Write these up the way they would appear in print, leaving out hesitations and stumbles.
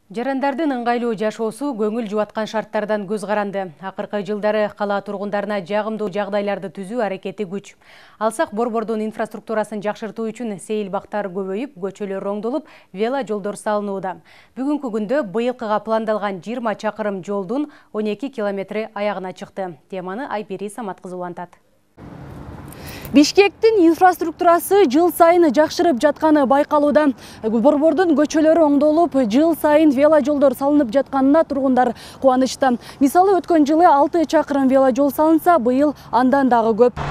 Жарандардын ыңгайлуу жашоосу көңүл жубаткан шарттардан көз каранды. Акыркы жылдары кала тургундарына жагымдуу жагдайларды түзүү аракети күч. Алсак Борбордун инфраструктурасын жакшыртуу үчүн сейил бактар көбөйүп, көчөлөр оңдолуп, вело жолдор салынууда. Бүгүнкү күндө быйылкыга пландалган 20 чакырым жолдун 12 километри аягына чыкты. Теманы Айпери Саматкызы улантат. Бишкектин инфраструктурасы жыл сайын жакшырып жатканы байкалууда. Борбордун көчөлөрү оңдолуп, жыл сайын вело жолдор салынып жатканына тургундар кубанычта. Мисалы, өткөн жылы 6 чакырым вело жол салынса, быйыл андан дагы көп.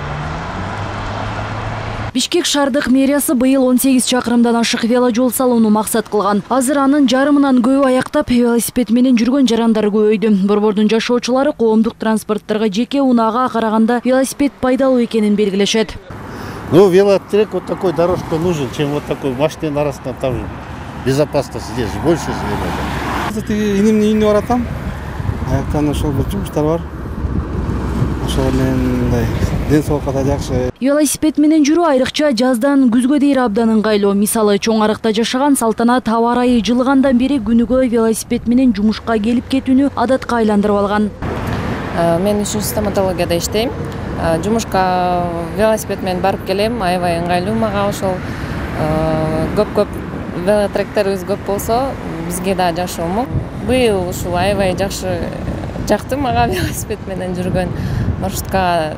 Бишкек шаардык мэриясы быйыл 18 чакырымдан ашык вело жол салууну максат кылган. Азыр анын жарымынан көбү аяктап велосипед менен жүргөн жарандар көбөйдү. Борбордун жашоочулары коомдук транспорттарга жеке унаага караганда велосипед пайдалуу экенин белгилешет. Ну, велотрек вот такой дорожка нужен, чем вот такой машинанын арасында там безопасность здесь больше же. Инимдин үйүнө баратам. Аяктан ошол бир жумуштар бар. Ошол менен мындай ден соолукка да жакшы. Велосипед менен жүрүү айрыкча жаздан күзгө дейин абдан ыңгайлуу. Мисалы, чоң арыкта жашаган Салтанат аба ырайы жылыгандан бери күнүгө велосипед менен жумушка келип кетүүнү адатка айландырып алган. Мен 3-стоматологияда иштейм. Жумушка велосипед менен барып келем, аябай ыңгайлуу мага ошол. Көп велотректерибиз көп болсо, бизге да жакшы болмок. Быйыл ушул аябай жакты мага велосипед менен жүргөн маршруткага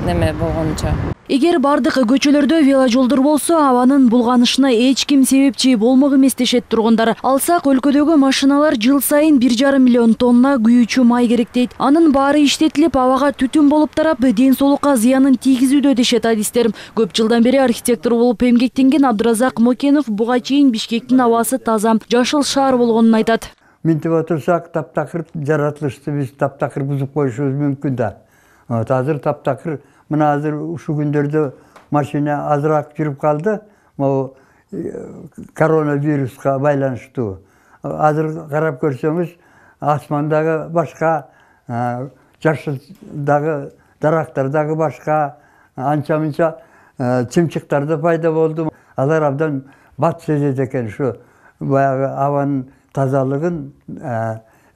неме болгончо. Эгер бардык көчөлөрдө вело жолдор болсо, абанын булганышына эч ким себепчи болмок эмес дешет тургундар. Алсак, өлкөдөгү машиналар жыл сайын 1,5 миллион тонна күйүүчү май керек дейт. Анын баары иштетилип, абага түтүн болуп тарап, ден соолукка зыянын тийгизүүдө дешет адистер. Көп жылдан бери архитектор болуп эмгектенген Абдыразак Мокенов буга чейин Бишкектин абасы таза, жашыл шаар болгонун айтат. Минтип отурсак, таптакыр жаратылышты биз таптакыр бузуп коюшубуз мүмкүн да. Азыр таптакыр, мына азыр ушул күндөрдө машина азыраак жүрүп калды. Могу коронавируска байланыштуу. Азыр карап көрсөңүз, асмандагы башка, жашылдагы дарактар дагы башка, анча-мынча чымчыктар да пайда болду. Алар абдан бат сезет экен ушу баягы абанын тазалыгын,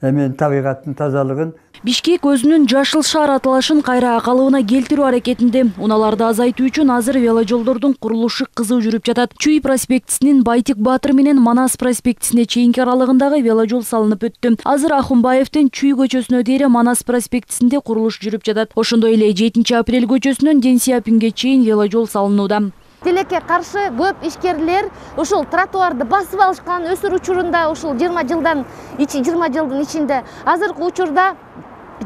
эмен табигаттын тазалыгын. Бишкек өзүнүн жашыл шаар аталышын кайра калыбына келтирүү аракетинде. Унааларды азайтуу үчүн азыр вело жолдордун курулушу кызуу жүрүп жатат. Чүй проспектисинин Байтик Баатыр менен Манас проспектисине чейинки аралыгындагы вело жол салынып өттү. Азыр Ахунбаевдин Чүй көчөсүнө дейре Манас проспектисинде курулуш жүрүп жатат. Ошондой эле 7 апрель көчөсүнөн Ден Сиапинге чейин вело жол салынууда. Тилекке каршы көп ишкерлер ушул тротуарды басып алышкан өсүр учурунда, ушул 20 жылдын ичинде. Азыркы учурда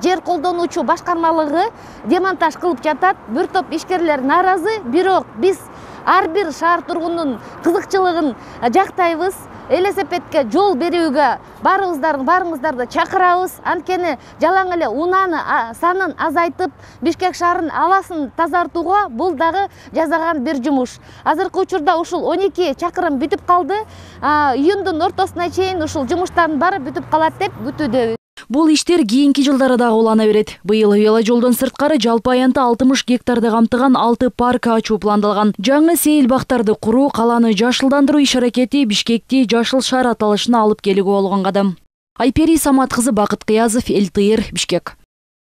жер колдонуучу башкармалыгы демонтаж кылып жатат. Бир топ ишкерлер нааразы, бирок биз ар бир шаар тургунунун кызыкчылыгын жактайбыз. Велосипедке жол берүүгө баарыңыздарды чакырабыз. Анткени жалаң эле унааны санын азайтып, Бишкек шаарынын абасын тазартууга бул дагы жасаган бир жумуш. Азыркы учурда ушул 12 чакырым бүтүп калды. Июндун ортосуна чейин ушул жумуштардын баары бүтүп калат деп күтүүдөбүз. Бул иштер кийинки жылдары дагы улана берет. Быйыл вело жолдон сырткары жалпы аянты 60 гектарды камтыган 6 парк ачуу пландалган. Жаңы сейил бактарды куруу, каланы жашылдандыруу иш аракети Бишкекти жашыл шаар аталышына алып келүүгө болгон кадам. Айпери Саматкызы, Бакыт Кыязов, эл тыйыр, Бишкек.